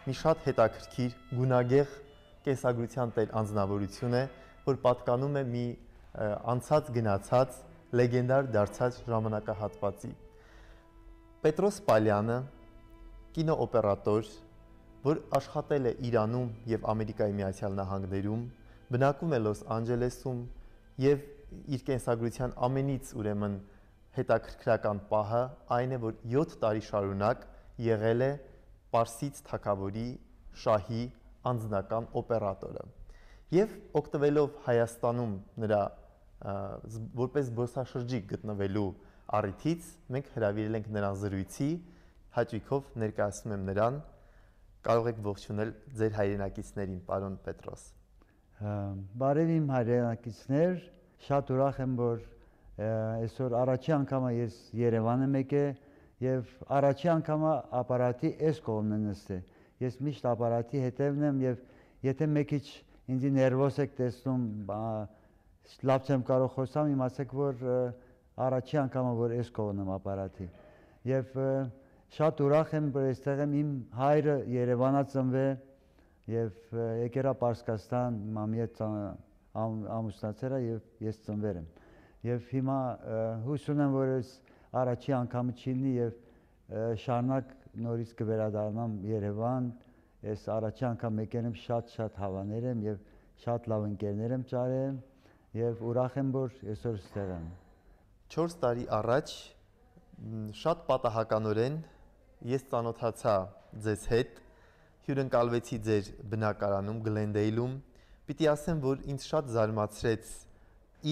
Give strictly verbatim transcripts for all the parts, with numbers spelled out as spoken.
մի շատ հետաքրքիր գունագեղ կենսագրության տեր անձնավորություն է, որ պատկանում է մի անցած գնացած լեգենդար դարձած ժամանակահատվածի։ Պետրոս Պալյանը կինոօպերատոր, որ աշխատել է Իրանում եւ Ամերիկայի Միացյալ Նահանգներում, բնակվում է Լոս Անջելեսում եւ իր կենսագրության ամենից ուրեմն հետաքրքրական պահը այն է, որ յոթ տարի շարունակ եղել է Պարսից թագավորի շահի անձնական օպերատորը եւ օգտվելով Հայաստանում նրա որպես զբոսաշրջիկ գտնվելու առիթից մենք հրավիրել ենք նրան զրույցի, հաճույքով ներկայացնում եմ նրան, կարող եք ողջունել ձեր հայրենակիցներին, պարոն Պետրոս։ Բարև իմ հայրենակիցներ, շատ ուրախ եմ, որ այսօր առաջի անգամ ես Երևան եմ եկել եւ առաջի անգամ ապարատի այս կողմն եմ նստել։ Ես միշտ ապարատի հետևն եմ եւ եթե մի քիչ ինձ ներվոս եք տեսնում, լավ չեմ կարող խոսամ, իմացեք, որ առաջի անգամ որ այս կողմն եմ ապարատի։ Եվ շատ ուրախ եմ, որ այստեղ եմ, իմ հայրը Երևանա ծնվել եւ եկերա Պարսկաստան, մամի հետ ամուսնացել է եւ ես ծնվել եմ։ Եվ հիմա հույս ունեմ, որ այս առաջի անգամը չի լինի եւ շարունակ նորից կվերադառնամ Երևան, այս առաջի անգամ եկել եմ, շատ-շատ հավաներ եմ եւ շատ լավ ընկերներ եմ ճարել եւ ուրախ եմ, որ այսօր ստեղ եմ։ չորս տարի առաջ շատ պատահականորեն ես ծանոթացա ձեզ հետ, հյուրընկալվեցի ձեր բնակարանում Գլենդեյլում, պիտի ասեմ, որ ինձ շատ զարմացրեց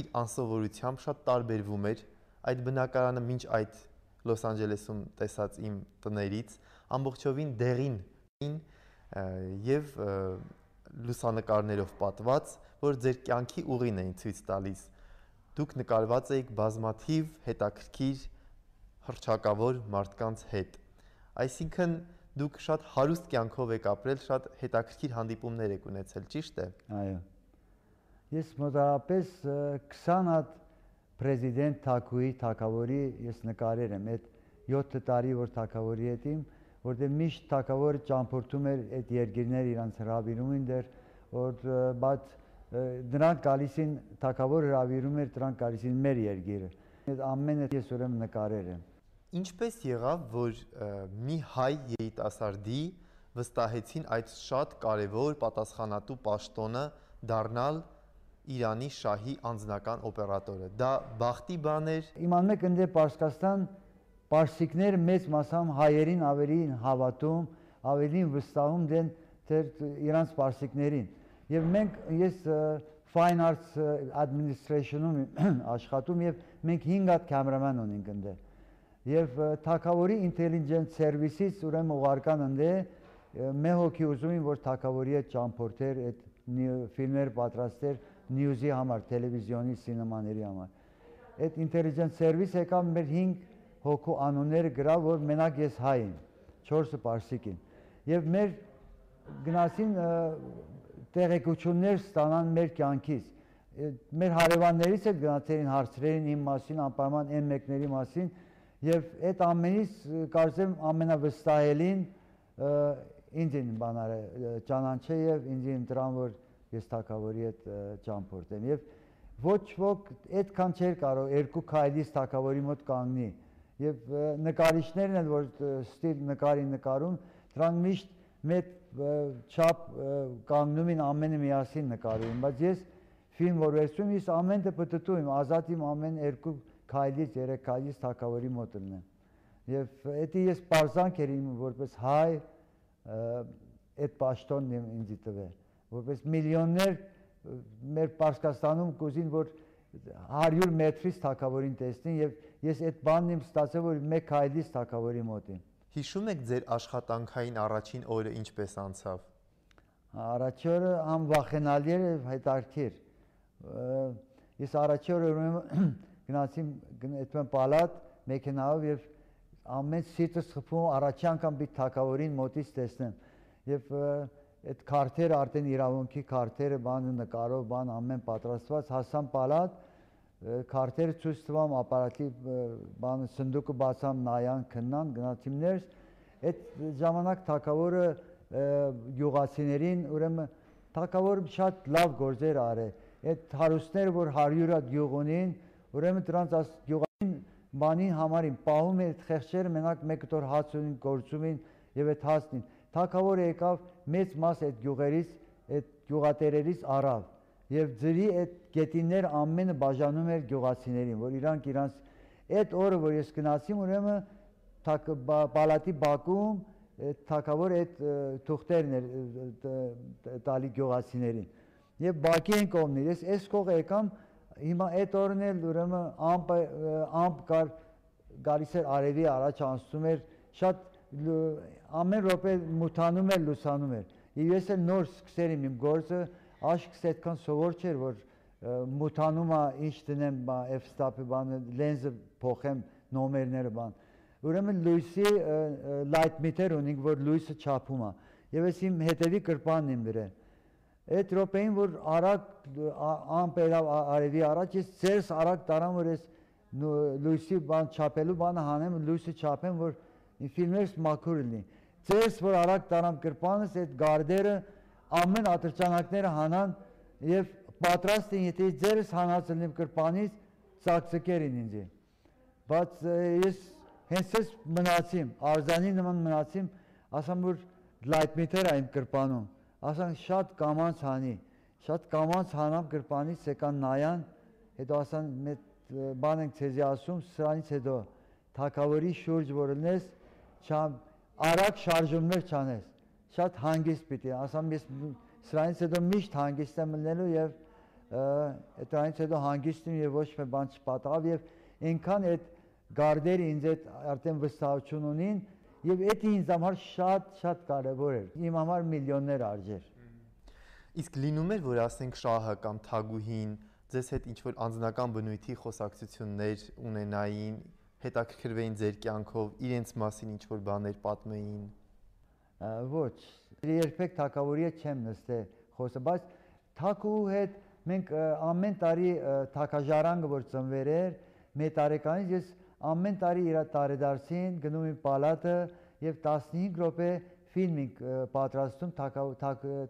իր անսովորությամբ, շատ տարբերվում էր այդ բնակարանը մինչ այդ Լոս Անջելեսում տեսած իմ տներից, ամբողջովին դեղին եւ լուսանկարներով պատված, որ ձեր կյանքի ուղին էին ցույց տալիս։ Դուք նկարված եք բազմաթիվ հետաքրքիր հռչակավոր մարդկանց հետ։ Այսինքն դուք շատ հարուստ կյանքով եք ապրել, շատ հետաքրքիր հանդիպումներ եք ունեցել, ճիշտ է։ Այո։ Ես մոտավորապես քսան հատ Պրեզիդենտ Թաքուի թագավորի ես նկարել եմ, այդ յոթ տարի որ թագավորի հետ իմ, որտեղ միշտ թագավորը ճամփորդում էր այդ երկիրներ իրանց հրավիրում են դեր, որ բայց նրանք գալիս են թագավորը հրավիրում էր, դրանք գալիս են մեր երկիրը։ Այդ ամենը ես ուրեմն նկարել եմ։ Ինչպես եղավ, որ մի հայ երիտասարդի վստահեցին այդ շատ կարևոր պատասխանատու պաշտոնը դառնալ Իրանի շահի անձնական օպերատորը։ Դա բախտի բան էր։ Իմանում եք, ընդ Պարսկաստան պարսիկները մեծ մասամբ հայերին ավելի հավատում, ավելի վստահում դեն դեր իրանց պարսիկներին։ Եվ մենք ես Fine Arts Administration-ում աշխատում եւ մենք հինգ հատ կամերաման ունենք ընդ։ Եվ թագավորի intelligence service-ից ուրեմն ուղարկան ընդ մեր հոգի ուզում են, որ թագավորի հետ ճամփորդեր, այդ ֆիլմեր պատրաստեր նյուզի համար, տելևիզիոնի, սինեմաների համար։ Այդ intelligence service եկավ մեր հինգ հոգու անունները գրավ, որ մենակ ես հայ եմ, չորսը պարսիկ են։ Եվ մեր գնացին տեղեկություններ ստանան մեր կյանքից։ Մեր հարևաններից էլ գնացին հարցրերին իմ մասին, անպայման այն մեկների մասին, եւ այդ ամենից կարծեմ ամենավստահելին ինձ են բանարը ճանաչել եւ ինձ ընտրան, որ ես թագավորի հետ ճամփորդեմ եւ ոչ ոք այդքան չէր կարող երկու քայլից թագավորի մոտ կանգնի եւ նկարիչներն են, որ ստիլ նկարի նկարում, դրանք միշտ մեծ չափ կանգնում են ամենը միասին նկարում, բայց ես ֆիլմ որ վերցում ես ամեն դեպ դտում եմ, ազատ իմ ամեն երկու քայլից երեք քայլից թագավորի մոտ լինեմ եւ դա ես բարձանք էր իմ որպես հայ այդ պաշտոնն ինձ տվել, որպես միլիոններ մեր Պարսկաստանում կուզին, որ հարյուր մետրից թագավորին տեսնին եւ ես այդ բանն եմ ստացել, որ մեկ քայլից թագավորի մոտ եմ։ Հիշում եք ձեր աշխատանքային առաջին օրը ինչպես անցավ։ Առաջի օրը անվախենալի էր, հետաքրքիր։ Ես առաջի օրը գնացի այդպես պալատ մեքենայով եւ ամեն սիրտս խփում առաջի անգամ մի թագավորին մոտից տեսնեմ եւ այդ քարտերը արդեն իրավունքի քարտերը բանը նկարով բան ամեն պատրաստված հասան պալատ քարտերը ցույց տվամ ապարատի բանը սնդուկը բացամ նայան քննան գնացիմ ներս այդ ժամանակ թագավորը գյուղացիներին, ուրեմն թագավորը շատ լավ գործեր արել։ Այդ հարուստները, որ հարյուր հատ գյուղ ունին, ուրեմն դրանց աս գյուղային բանին համարին պահում է այդ խեղճերը մենակ մեկ տոր հաց ունին, գործում են եւ այդ հացն։ Թագավորը եկավ մեծ մաս այդ գյուղերից, այդ գյուղատերերից առավ եւ ձրի այդ գետիններ ամենը բաժանում էր գյուղացիներին, որ իրանք իրանց այդ օրը, որ ես գնացի, ուրեմն պալատի բակում թագավորը այդ թուղթերն էր տալի գյուղացիներին եւ բակի են կողմներ։ Ես այս կողը եկամ, հիմա այդ օրն էլ ուրեմն ամպ ամպ կար գալիս էր արևի առաջ անցնում էր, շատ ամեն րոպե մութանում էր, լուսանում էր։ Եվ ես էլ նոր սկսել եմ իմ գործը, աշկս այդքան սովոր չէր, որ մութանում է, ինչ դնեմ, f-stop-ի բանը, լենզը փոխեմ, նոմերները բան։ Ուրեմն լույսի light meter ունենք, որ լույսը չափում է։ Եվ ես իմ հետևի կրպանն եմ դրել։ Այդ րոպեին, որ արագ ամպ ելավ արևի առաջ, ես ձերս արագ տարամ, որ ես լույսի բան չափելու բանը հանեմ, լույսը չափեմ, որ ֆիլմերս մաքուր լինի։ Ձերս, որ արագ տարամ կրպանս, այդ գարդերը ամեն ատրճանակները հանան եւ պատրաստ են, եթե ձերս հանած լինեմ կրպանից, ծակծկերին ինձ։ Բայց ես հենց ես մնացիմ, արձանի նման մնացիմ, ասամ, որ light meter-ը այն կրպանում, ասան շատ կամանց հանի, շատ կամանց հանամ կրպանից, եկան նայան, հետո ասան բան ենք ցեզի ասում, սրանից հետո թագավորի շուրջ որ լինես, արագ շարժումներ չանես, շատ հանգիստ պիտի, ասամ ես սրանից հետո միշտ հանգիստ եմ լինելու եւ դրանից հետո հանգիստ եմ եւ ոչ մի բան չպատահավ եւ այնքան այդ գարդերը ինձ այդ արդեն վստահություն ունին եւ դա ինձ համար շատ շատ կարեւոր էր, իմ համար միլիոններ արժեր։ Իսկ լինում էր, որ ասենք շահը կամ թագուհին ձեզ հետ ինչ-որ անձնական բնույթի խոսակցություններ ունենային, հետաքրքրվեին ձեր կյանքով, իրենց մասին ինչ-որ բաներ պատմեին։ Ոչ, երբեք թագավորի հետ չեմ նստել խոսել, բայց թագուհու հետ մենք ամեն տարի թագաժարանգը որ ծնվեր էր, մեր տարեկանից ես ամեն տարի իր տարեդարձին գնում եմ պալատը եւ տասնհինգ րոպե ֆիլմ ենք պատրաստում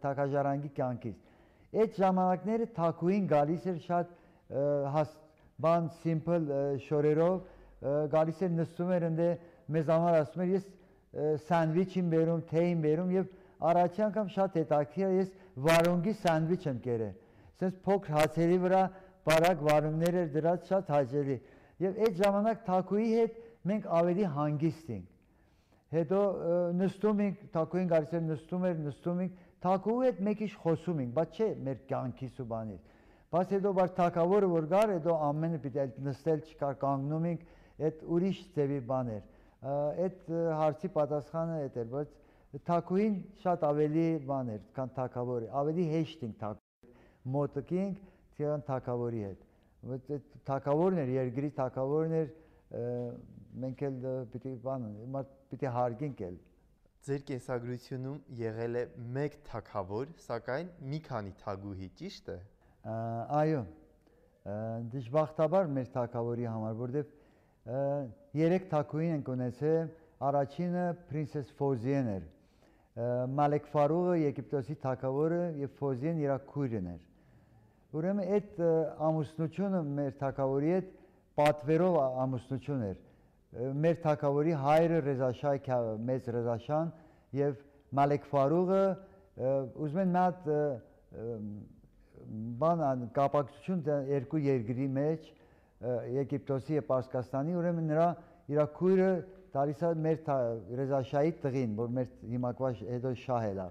թագաժարանգի կյանքից։ Այդ ժամանակները թագուհին գալիս էր շատ բան սիմպլ շորերով, գալիս էր նստում էր ընդ մեզ համար ասում էր ես սանդվիչ եմ բերում, թեյ եմ բերում եւ առաջի անգամ շատ հետաքրքիր է, ես վարունգի սանդվիչ եմ կերել։ Սենց փոքր հացերի վրա բարակ վարունգներ էր դրած, շատ հաճելի։ Եվ այդ ժամանակ թագուհի հետ մենք ավելի հանգիստ ենք։ Հետո նստում ենք, թագուհին գալիս էր նստում էր, նստում ենք, թագուհու հետ մեկ ինչ խոսում ենք, բայց չէ մեր կյանքից ու բանից։ Բայց հետո բար թագավորը որ գար, հետո ամենը պիտի նստել չկար, կանգնում ենք, այդ ուրիշ ձևի բան էր։ Այդ հարցի պատասխանը այդ էր, բայց թագուհին շատ ավելի բան էր, քան թագավորը, ավելի հեշտ ենք թագուհի մոտիկ ենք, քան թագավորի հետ։ Թագավորն էր, երկրի թագավորն էր, մենք էլ պիտի բան, պիտի հարգենք էլ։ Ձեր կենսագրությունում եղել է մեկ թագավոր, սակայն մի քանի թագուհի, ճիշտ է։ Այո, դժբախտաբար մեր թագավորի համար, որովհետև երեք թագուհին ենք ունեցել, առաջինը պրինսես Ֆոզիեն էր, Մալեք Ֆարուղը Եգիպտոսի թագավորը եւ Ֆոզիեն իր քույրն էր։ Ուրեմն այդ ամուսնությունը մեր թագավորի հետ պատվերով ամուսնություն էր։ Մեր թագավորի հայրը Ռեզաշահ մեծ Ռեզաշան եւ Մալեք Ֆարուղը ուզում են մատ բան կապակցություն երկու երկրի մեջ Եգիպտոսի եւ Պարսկաստանի, ուրեմն նրա իր քույրը տալիս է մեր Ռեզաշահի տղին, որ մեր հիմակվա հետո շահ է։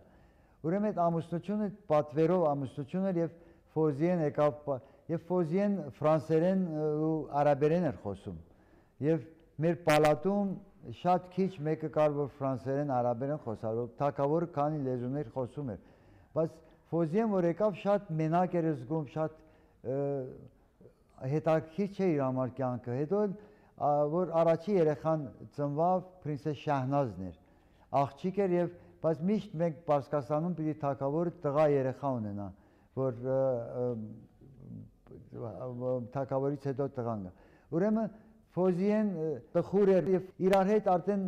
Ուրեմն այդ ամուսնությունը պատվերով ամուսնություն էր եւ Ֆոզիեն եկավ եւ Ֆոզիեն ֆրանսերեն ու արաբերեն էր խոսում եւ մեր պալատում շատ քիչ մեկը կար որ ֆրանսերեն արաբերեն խոսար, թագավորը քանի լեզուներ խոսում էր, բայց Ֆոզիեն որ եկավ շատ մենակ էր զգում, շատ հետաքրքիր չէ իր համար կյանքը։ Հետո որ առաջի երեխան ծնվավ պրինսես Շահնազն էր, աղջիկ էր եւ բայց միշտ մենք Պարսկաստանում պիտի թագավորը տղա երեխա ունենա, որ թագավորից հետո տղան գա։ Ուրեմն Ֆոզիեն տխուր էր եւ իրար հետ արդեն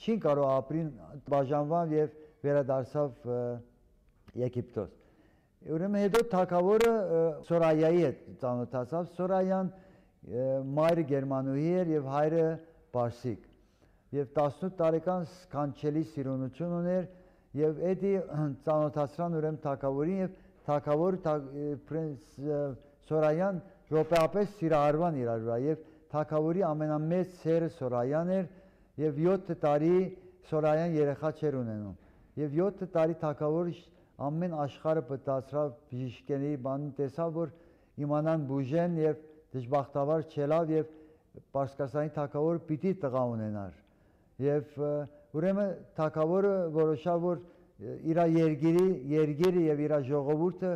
չի կարող ապրին բաժանվան եւ վերադարձավ Եգիպտոս։ Ուրեմն հետո թագավորը Սորայայի հետ ծանոթացավ, Սորայան մայրը գերմանուհի էր եւ հայրը պարսիկ։ Եվ տասնութ տարեկան սքանչելի սիրունություն ուներ եւ էդի ծանոթացրան ուրեմն թագավորին եւ թագավորը պրինց Սորայան րոպեապես սիրահարվան իրար վրա եւ թագավորի ամենամեծ սերը Սորայան էր եւ յոթ տարի Սորայան երեխա չէր ունենում եւ յոթ տարի թագավորը ամեն աշխարհը պատասրավ բժիշկների բան տեսավ որ իմանան բուժեն եւ դժբախտաբար չելավ եւ Պարսկաստանի թագավորը պիտի տղա ունենար եւ ուրեմն թագավորը որոշավ որ իր երգիրի երգիրը եւ իր ժողովուրդը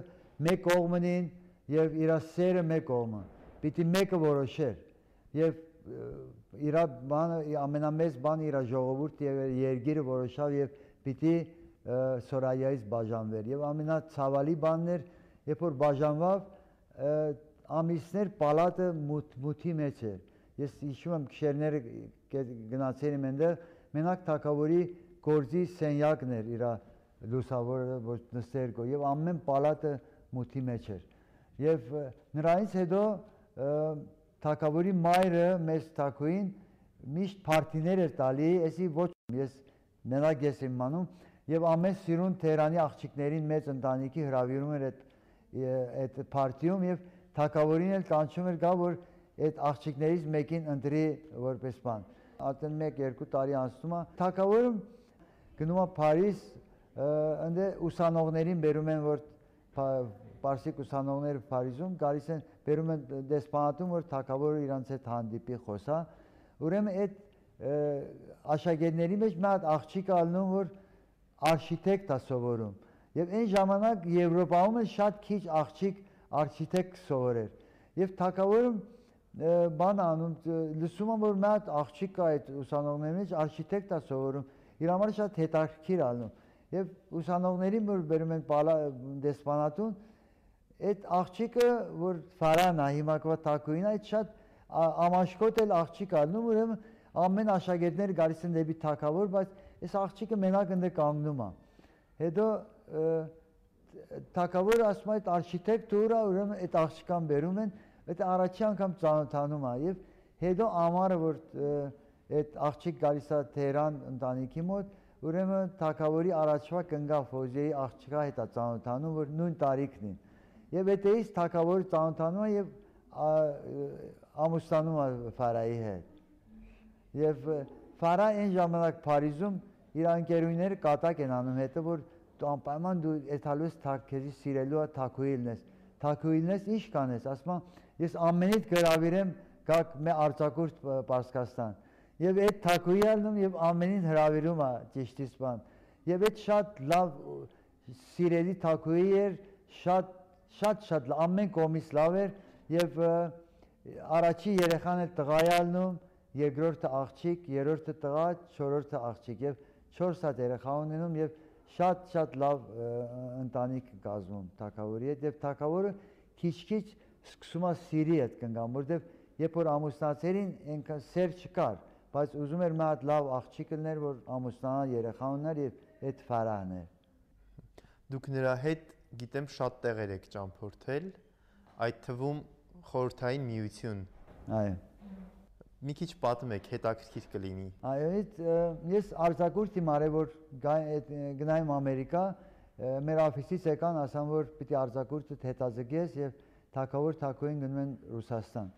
մեկ կողմին եւ իր սերը մեկ կողմը պիտի մեկը որոշեր եւ իր բանը ամենամեծ բանը իր ժողովուրդը եւ երգիրը որոշավ եւ պիտի Սորայայից բաժանվեր եւ ամենացավալի բանն էր երբ որ բաժանվավ ամիսներ պալատը մութի մեջ էր ես հիշում եմ քշերները գնացել եմ այնտեղ մենակ թագավորի գործի սենյակն էր իր լուսավորը որ նստեր գո եւ ամեն պալատը մութի մեջ էր եւ նրանից հետո թագավորի մայրը մեծ թագուին միշտ փարթիներ էր տալի էսի ոչ ես մենակ ես եմ մանում եւ ամեն սիրուն Թերանի աղջիկներին մեծ ընտանիքի հրավիրում էր այդ այդ փարթիում եւ թագավորին էլ կանչում էր գա որ այդ աղջիկներից մեկին ընտրի որպես բան արդեն մեկ երկու տարի անցնում է թագավորը գնում է Փարիզ ընդ ուսանողներին բերում են որ պարսիկ ուսանողները Փարիզում գալիս են բերում են դեսպանատուն որ թագավորը իրանց հետ հանդիպի խոսա ուրեմն այդ աշակերտների մեջ մի հատ աղջիկ ալնում որ արխիտեկտ է սովորում եւ այն ժամանակ Եվրոպայում էլ շատ քիչ աղջիկ արխիտեկտ սովորեր եւ թագավորը բան անում լսում եմ որ մի հատ աղջիկ կա այդ ուսանողների մեջ արխիտեկտ է սովորում իր համար շատ հետաքրքիր ալնում եւ ուսանողներին որ բերում են դեսպանատուն այդ աղջիկը որ Ֆարան է հիմա կվա թագուին այդ շատ ամաշկոտ էլ աղջիկ ալնում ուրեմն ամեն աշակերտները գալիս են դեպի թագավոր բայց այս աղջիկը մենակ ընդ կանգնում է հետո թագավորը ասում է այդ արխիտեկտուրա ուրեմն այդ աղջկան բերում են այդ առաջի անգամ ծանոթանում է եւ հետո ամառը որ այդ աղջիկ գալիս է Թեհրան ընտանիքի մոտ ուրեմն թագավորի առաջվա կնգա Ֆոզիայի աղջկա հետ է ծանոթանում որ նույն տարիքն են եւ այդտեղից թագավորը ծանոթանում է եւ ամուսնանում է Ֆարայի հետ եւ Ֆարա այն ժամանակ Փարիզում իր ընկերուները կատակ են անում հետո որ դու անպայման դու այդալուս թագերի սիրելու է թագուիլն ես թագուիլն ես ինչ կանես ասում ես ամենից գրավիրեմ գաք մե արձակուրդ Պարսկաստան եւ այդ թագուիլն եւ ամենին հրավիրում է ճիշտից բան եւ այդ շատ լավ սիրելի թագուի էր շատ շատ շատ ամեն կողմից լավ էր եւ առաջի երեխան էլ տղա է ալնում երկրորդը աղջիկ երրորդը տղա չորրորդը աղջիկ եւ չորս հատ երեխա ունենում եւ շատ շատ լավ ընտանիք կազմում թագավորի հետ եւ թագավորը քիչ-քիչ սկսում է սիրի այդ կնգամ որտեվ երբ որ ամուսնացերին այնքան սեր չկար բայց ուզում էր մի հատ լավ աղջիկ լիներ որ ամուսնանա երեխա ունենար եւ այդ Ֆարահն էր դուք նրա հետ գիտեմ շատ տեղեր եք ճամփորդել այդ թվում խորհրդային միություն այո մի քիչ պատմեք հետաքրքիր կլինի այո ես արձակուրդ իմ արել որ գնայım Ամերիկա մեր օֆիսից եկան ասան որ պիտի արձակուրդը հետաձգես եւ թագավոր թագուին գնում են Ռուսաստան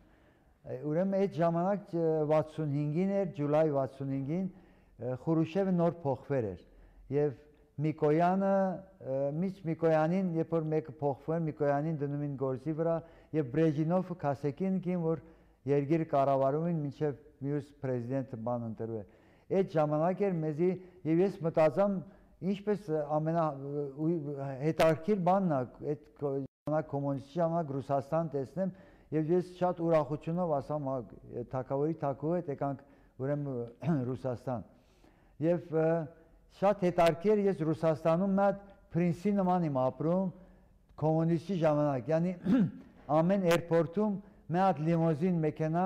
ուրեմն այդ ժամանակ վաթսունհինգին էր Ջուլայ վաթսունհինգին Խուրուշևը նոր փոխվեր էր եւ Միկոյանը միջ Միկոյանին երբ որ մեկը փոխվում Միկոյանին դնում են գործի վրա եւ Բրեժինովը Քասեկին կին որ երկիրը կառավարում են մինչև մյուս պրեզիդենտը բան ընտրվի այդ ժամանակ էր մեզի եւ ես մտածամ ինչպես ամենա հետաքրքիր բանն է այդ ժամանակ կոմունիստի ժամանակ Ռուսաստան տեսնեմ եւ ես շատ ուրախությունով ասամ թագավորի թագու հետ եկանք ուրեմն Ռուսաստան եւ շատ հետաքրքիր ես Ռուսաստանում մատ պրինսի նման եմ ապրում կոմունիստի ժամանակ yani ամեն էրպորտում մի հատ լիմոզին մեքենա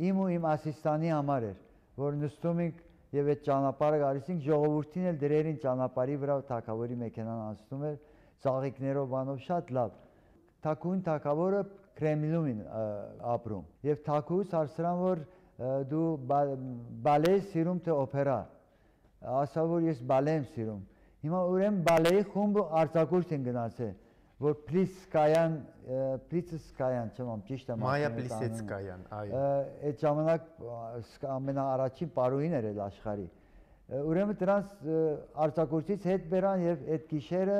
իմ ու իմ ասիստանի համար էր որ նստում ենք եւ այդ ճանապարհը գալիս ենք ժողովրդին էլ դրերին ճանապարհի վրա թակավորի մեքենան անցնում էր ծաղիկներով բանով շատ լավ թակուն թակավորը Կրեմլինում ապրում եւ թակուս հարցրան որ դու բալե սիրում թե օպերա ասա որ ես բալե եմ սիրում հիմա ուրեմն բալեի խումբը արձակուրդ են գնացել որ Պլիսկայան Պլիսկայան չեմ ճիշտ եմ Մայա Պլիսեցկայան այո այդ ժամանակ ամենաառաջին պարուհին էր աշխարհի ուրեմն դրանց արձակուրդից հետ բերան եւ այդ գիշերը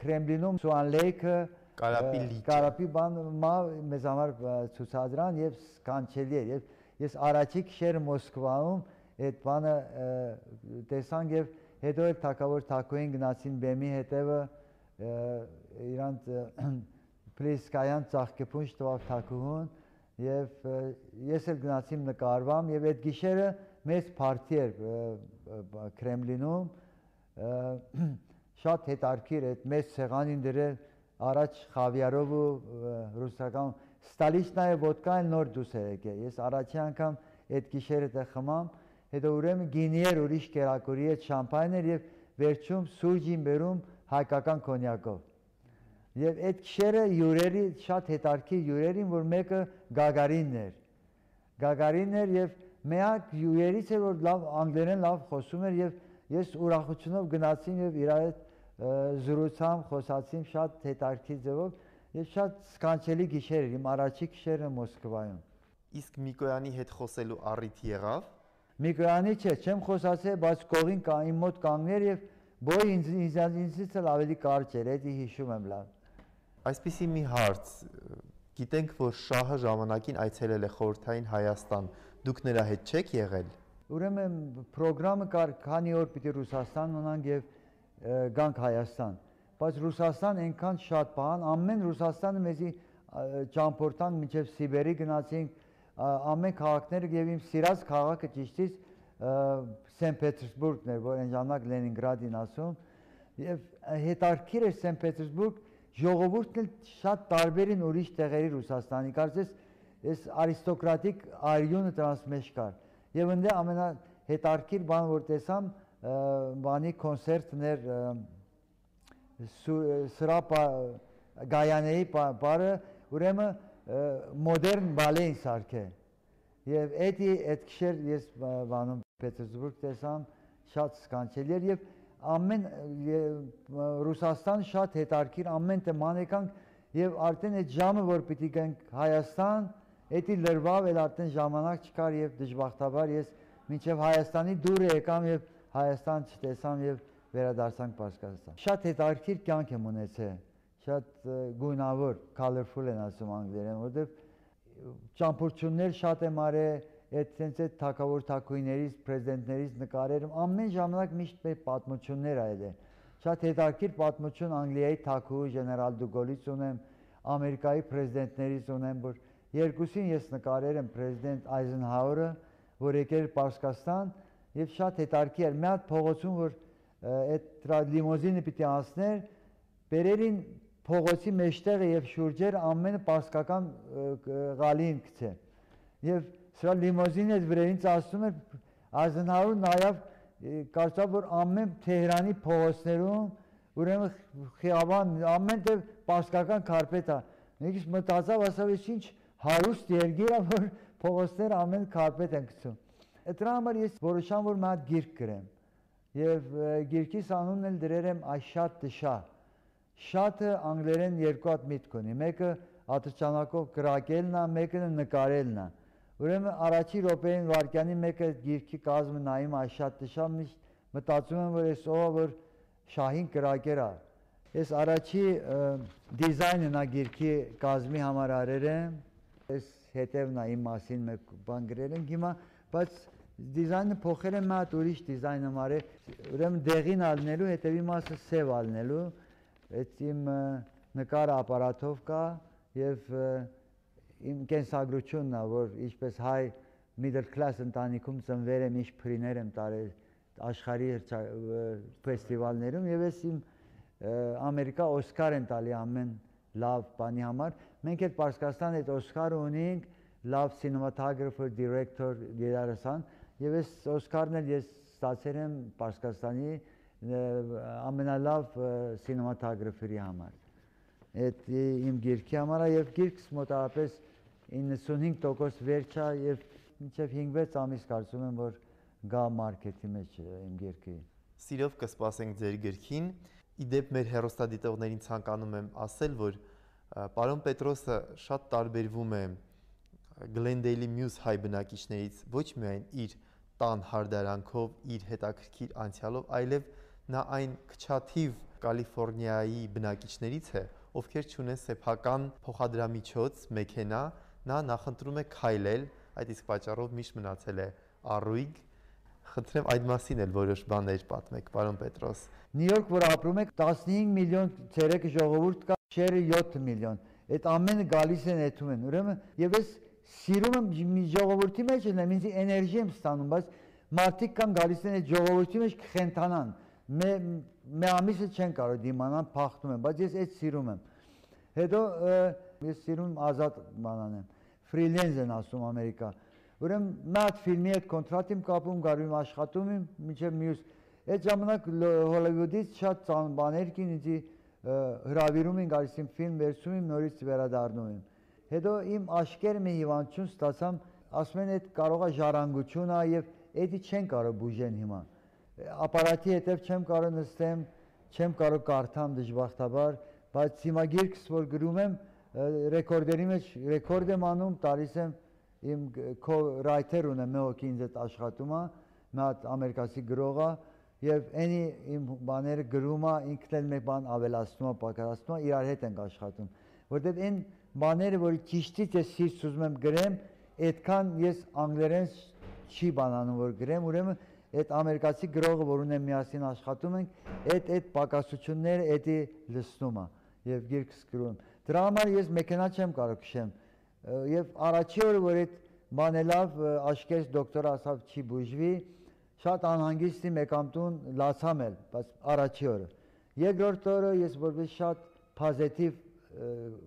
Կրեմլինում Սուանլեյքը Կարապի լիճը Կարապի բան մա մեզ համար ցուցադրան եւ սկանչելի էր եւ ես առաջի գիշերը Մոսկվայում այդ բանը տեսանք եւ հետո էլ թակավոր թակուին գնացին բեմի հետևը իրանց Պլիսկայան ծաղկեփունջ տվավ թակուհուն եւ ես էլ գնացիմ նկարվամ եւ այդ գիշերը մեծ փարթի էր Կրեմլինում շատ հետարքիր այդ մեծ սեղանին դրել առաջ խավիարով ու ռուսական ստալիչնայը ոդկան նոր դուս էր եկել ես առաջի անգամ այդ գիշերը դե խմամ հետո ուրեմն գինի էր ուրիշ կերակուրի այդ շամպայն էր եւ վերջում սուրճին բերում հայկական կոնյակով եւ այդ գիշերը յուրերի շատ հետարքի յուրերին որ մեկը Գագարինն էր Գագարինն էր եւ միակ յուրերից էր որ լավ անգլերեն լավ խոսում էր եւ ես ուրախությունով գնացին եւ իր հետ զրուցամ խոսացիմ շատ հետարքի ձևով եւ շատ սկանչելի գիշեր էր իմ առաջի գիշերը Մոսկվայում իսկ Միկոյանի հետ խոսելու առիթ եղավ Միկոյանի չէ չեմ խոսացել բայց կողին կա իմ մոտ կանգներ եւ բոյ ինձ ինձից էլ ավելի կարճ էր էդի հիշում եմ լավ Այսպիսի մի հարց գիտենք որ շահը ժամանակին այցելել է խորհրդային Հայաստան դուք նրա հետ չեք եղել ուրեմն ծրագրամը կար քանի օր պիտի Ռուսաստան մնանք եւ գանք Հայաստան բայց Ռուսաստան այնքան շատ բան ամեն Ռուսաստանը մեզի ճամփորդան մինչև Սիբերի գնացինք ամեն քաղաքները եւ իմ սիրած քաղաքը ճիշտից Սենտ Պետերսբուրգն էր որ այն ժամանակ Լենինգրադին ասում եւ հետարքիր էր Սենտ Պետերսբուրգ ժողովուրդն էլ շատ տարբերին ուրիշ տեղերի Ռուսաստանի կարծես այս արիստոկրատիկ արյունը դրանց մեջ կար եւ ընդ ամենա հետարքիր բան որ տեսամ բանի կոնցերտներ սրա Գայանեի բարը ուրեմն մոդեռն բալեին սարքել եւ էդի այդ քշեր ես բանում Պետերսբուրգ տեսամ շատ սկանչելի էր եւ ամեն Ռուսաստան շատ հետարքիր ամեն տեման եկանք եւ արդեն այդ ժամը որ պիտի գանք Հայաստան էդի լրվավ էլ արդեն ժամանակ չկար եւ դժբախտաբար ես մինչեւ Հայաստանի դուրը եկամ եւ Հայաստան չտեսամ եւ վերադարձանք Պարսկաստան շատ հետարքիր կյանք եմ ունեցել շատ գույնավոր colorful են ասում անգլերեն որովհետեւ ճամփորդություններ շատ եմ արել այդ sense այդ թակավոր թակույներից պրեզիդենտներից նկարեր ամեն ժամանակ միշտ մեր պատմություններ այլ է շատ հետարքիր պատմություն Անգլիայի թակու գեներալ Դուգոլից ունեմ Ամերիկայի պրեզիդենտներից ունեմ որ երկուսին ես նկարել եմ պրեզիդենտ Այզենհաուրը որ եկել Պարսկաստան եւ շատ հետարքի էր մի հատ փողոցում որ այդ լիմոզինը պիտի անցներ բերերին փողոցի մեջտեղը եւ շուրջերը ամենը պարսկական գալին գցե եւ սրա լիմոզինը վրայից ասում էր Այզենհաուրը նաեւ կարծավ որ ամեն Թեհրանի փողոցներում ուրեմն խիաբան ամենտեղ պարսկական քարպետ է նույնիսկ մտածավ ասավ ինչ հարուստ երկիր է որ փողոցները ամեն քարպետ են գցում դրա համար ես որոշամ որ մի հատ գիրք գրեմ եւ գիրքիս անունն էլ դրել եմ Աշատ Դշա շատը անգլերեն երկու հատ միտք ունի մեկը ատրճանակով գրակելն է մեկը նկարելն է ուրեմն առաջի րոպեին վարկյանի մեկը գիրքի կազմը նայում Աշատ Դշա մտածում եմ որ այս ով որ շահին գրակեր է ես առաջի դիզայնն է գիրքի կազմի համար արել եմ ես հետևն է իմ մասին մեկ բան գրել ենք հիմա բայց դիզայնը փոխել եմ մի հատ ուրիշ դիզայն եմ արել ուրեմն դեղին ալնելու հետևի մասը սև ալնելու այդ իմ նկարը ապարատով կա եւ իմ կենսագրությունն է որ ինչպես հայ middle class ընտանիքում ծնվել եմ ինչ փրիներ եմ տարել աշխարհի ֆեստիվալներում եւ ես իմ Ամերիկա Օսկար են տալի ամեն լավ բանի համար մենք այդ Պարսկաստան այդ Օսկարը ունենք լավ cinematographer director երաժշտան եւ այս Օսկարն էլ ես ստացել եմ Պարսկաստանի ամենալավ սինեմատոգրաֆերի համար։ Այդ իմ գիրքի համար է եւ գիրքս մոտավորապես իննսունհինգ տոկոս վերջ է եւ մինչեւ հինգ-վեց ամիս կարծում եմ որ գա մարքեթի մեջ իմ գիրքը։ Սիրով կսպասենք ձեր գրքին։ Իդեպ մեր հեռուստադիտողներին ցանկանում եմ ասել, որ պարոն Պետրոսը շատ տարբերվում է Գլենդեյլի մյուս հայ բնակիչներից ոչ միայն իր տան հարդարանքով, իր հետաքրքիր անցյալով, այլև նա այն քչաթիվ Կալիֆոռնիայի բնակիչներից է, ովքեր չունեն սեփական փոխադրամիջոց, մեքենա, նա նախընտրում է քայլել, այդ իսկ պատճառով միշտ մնացել է առույգ։ Խնդրեմ այդ մասին էլ որոշ բաներ պատմեք, պարոն Պետրոս։ Նյու Յորք, որ ապրում եք, տասնհինգ միլիոն ցերեկ ժողովուրդ կա, շերը յոթ միլիոն։ Այդ ամենը գալիս են այդում են։ Ուրեմն եւ ես սիրում եմ ժողովրդի մեջ լինեմ, ինձ էներգի եմ ստանում, բայց մարդիկ կան գալիս են այդ ժողովրդի մեջ կխենթանան։ Մի ամիսը չեն կարող դիմանալ, փախնում են, բայց ես այդ սիրում եմ։ Հետո ես սիրում ազատ բանան եմ։ Ֆրիլենս են ասում Ամերիկա։ Ուրեմն մի հատ ֆիլմի հետ կոնտրակտ եմ կապում, գարու եմ աշխատում եմ, մինչև մյուս։ Այդ ժամանակ Հոլիվուդից շատ ծանր բաներ կին ինձ հրավիրում են, գալիս եմ ֆիլմ վերցում եմ, նորից վերադառնում եմ։ Հետո իմ աշկերը մի հիվանդություն ստացամ, ասում են այդ կարող է ժառանգություն է եւ էդի չեն կարող բուժեն հիմա։ Ապարատի հետև չեմ կարող նստեմ, չեմ կարող կարդամ դժբախտաբար, բայց հիմա գիրքս որ գրում եմ, ռեկորդերի մեջ ռեկորդ եմ անում, տալիս եմ իմ ռայթեր ունեմ, մի հոգի ինձ այդ աշխատում է, մի հատ ամերիկացի գրող է եւ այնի իմ բաները գրում է, ինքն էլ մի բան ավելացնում է, պակասում է, իրար հետ ենք աշխատում, որտեղ այն բաները, որ ճիշտից ես սիրտ ուզում եմ գրեմ, այդքան ես անգլերեն չի բանանում որ գրեմ, ուրեմն այդ ամերիկացի գրողը, որ ունեմ միասին աշխատում ենք, այդ այդ պակասությունները էդի լցնում է եւ գիրքս գրում։ Դրա համար ես մեքենա չեմ կարող քշեմ։ Եվ առաջի օրը, որ այդ բանը լավ աշկերս դոկտորը ասավ չի բուժվի, շատ անհանգիստի մեկամ տուն լացամ էլ, բայց առաջի օրը։ Երկրորդ օրը ես որպես շատ պոզիտիվ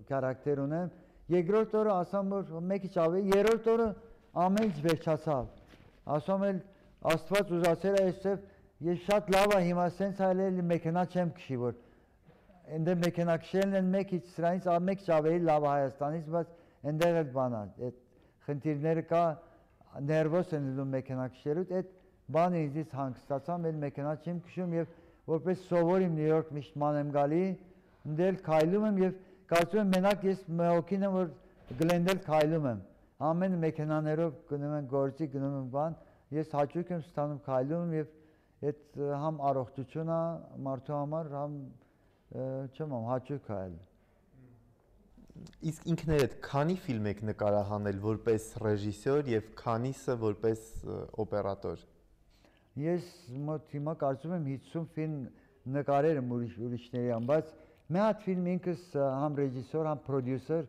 քարակտեր ունեմ, երկրորդ օրը ասամ որ մեկ քիչ ավելի, երրորդ օրը ամեն ինչ վերջացավ։ Ասում եմ Աստված ուզացել է այսպես, ես շատ լավ է հիմա սենց այլել մեքենա չեմ քշի, որ այնտեղ մեքենա քշելն են մեկ քիչ սրանից մեկ քիչ ավելի լավ Հայաստանից, բայց այնտեղ էլ բան է, այդ խնդիրները կա, ներվոս են լինում մեքենա քշելուց, այդ բանը ինձից հանգստացամ, այլ մեքենա չեմ քշում եւ որպես սովոր իմ Նյու Յորք միշտ ման եմ գալի, ընդել քայլում եմ եւ կարծում եմ մենակ ես մեղոքին եմ որ Գլենդել քայլում եմ, ամեն մեքենաներով գնում են գործի, գնում են բան, ես հաճույք եմ ստանում քայլում եւ այդ համ առողջություն է մարդու համար, համ չեմ ամ հաճույք է այլ։ Իսկ ինքներդ քանի ֆիլմ եք նկարահանել որպես ռեժիսոր եւ քանիսը որպես օպերատոր։ Ես մոտ հիմա կարծում եմ հիսուն ֆիլմ նկարել եմ ուրիշների ամ, բայց մի հատ ֆիլմ ինքս համ ռեժիսոր, համ պրոդյուսեր,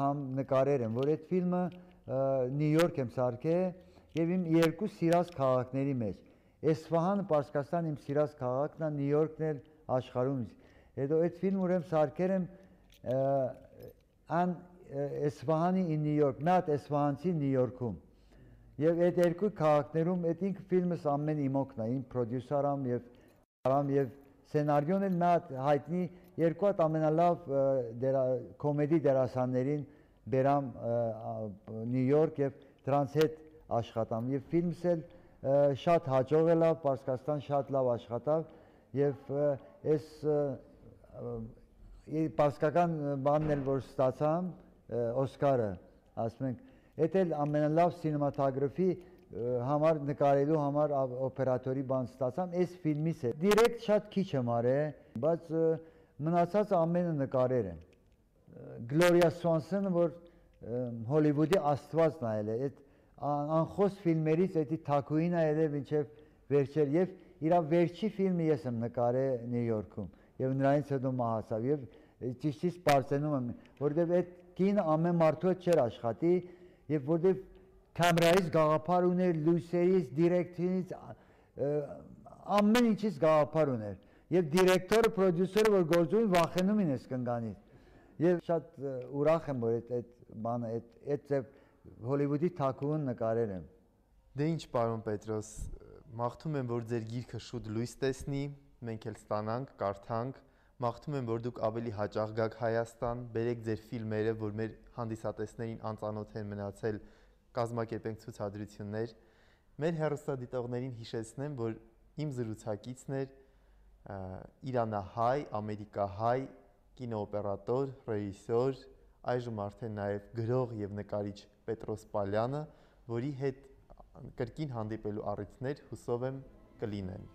համ նկարել եմ, որ այդ ֆիլմը Նյու Յորք եմ սարքել եւ իմ երկու սիրած քաղաքների մեջ։ Էսֆահանը Պարսկաստան իմ սիրած քաղաքն է, Նյու Յորքն էլ աշխարհում։ Հետո այդ ֆիլմը ուրեմն սարքել եմ ան Էսֆահանի in New York, մի հատ էսֆահանցի Նյու Յորքում։ Եվ այդ երկու քաղաքներում այդ ինքը ֆիլմս ամեն իմոքն է, իմ պրոդյուսերամ եւ արամ եւ սցենարիոն էլ մի հատ հայտնի երկու հատ ամենալավ կոմեդի դերասաններին բերամ Նյու Յորք եւ դրանց հետ աշխատամ եւ ֆիլմս էլ շատ հաջող է լավ, Պարսկաստան շատ լավ աշխատավ եւ այս պարսկական բանն էլ որ ստացամ Օսկարը, ասում ենք, այդ էլ ամենալավ սինեմատոգրաֆի համար նկարելու համար օպերատորի բան ստացամ, այս ֆիլմից է։ Դիրեկտ շատ քիչ եմ արել, բայց մնացած ամենը նկարել եմ։ Գլորիա Սուանսոնը, որ Հոլիվուդի աստված նայել է, այդ անխոս ֆիլմերից էդի թակուին է ելել մինչև վերջեր եւ իր վերջի ֆիլմը ես եմ նկարել Նյու Յորքում եւ նրանից հետո մահացավ եւ ճիշտից բարձենում եմ, որովհետեւ այդ կինը ամեն մարդու հետ չէր աշխատի եւ որովհետեւ կամերայից գաղափար ուներ, լույսերից, դիրեկտորից, ամեն ինչից գաղափար ուներ եւ դիրեկտորը, պրոդյուսերը որ գործում են վախենում են այս կնգանից եւ շատ ուրախ եմ որ այդ այդ բանը այդ այդ Հոլիվուդի թակուն նկարել եմ։ Դե ինչ պարոն Պետրոս, մաղթում եմ, որ ձեր գիրքը շուտ լույս տեսնի, մենք էլ ստանանք, կարդանք, մաղթում եմ, որ դուք ավելի հաճախ գաք Հայաստան, բերեք ձեր ֆիլմերը, որ մեր հանդիսատեսներին անծանոթ են մնացել, կազմակերպենք ցուցադրություններ։ Մեր հեռուստադիտողներին հիշեցնեմ, որ իմ զրուցակիցն էր իրանահայ, ամերիկահայ կինոօպերատոր, ռեժիսոր, այժմ արդեն նաև գրող եւ նկարիչ Պետրոս Պալյանը, որի հետ կրկին հանդիպելու առիթներ հուսով եմ կլինեն։